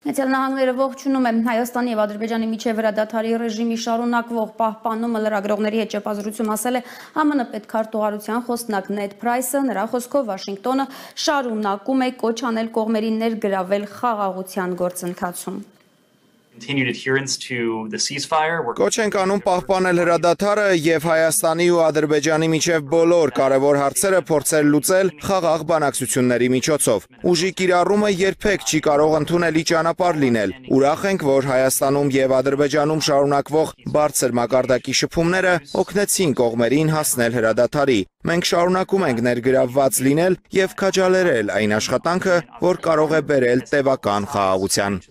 Միացյալ Նահանգները ողջունում է Հայաստանի եւ Ադրբեջանի միջև հրադադարի ռեժիմի շարունակվող պահպանումը լրագրողների հետ ճեպազրույցում ասել է ԱՄՆ պետքարտուղարության խոսնակ Նեդ Փրայսը, նրա խոսքով Վաշինգտոնը շարունակում է կոչ անել կողմերին ներգրավել խաղաղության գործընթացում։ Կոչ ենք անում պահպանել հրադադարը եւ Հայաստանի ու Ադրբեջանի միջև բոլոր կարևոր հարցերը փորձել լուծել խաղաղ բանակցությունների միջոցով։ Ուժի կիրառումը երբեք չի կարող ընդունելի ճանապարհ լինել։ Ուրախ ենք, որ Հայաստանում եւ Ադրբեջանում շարունակվող բարձր մակարդակի շփումները օգնեցին կողմերին հասնել հրադադարի։ Մենք շարունակում ենք ներգրավված լինել եւ քաջալերել այն աշխատանքը, որ կարող է բերել տևական խաղաղության։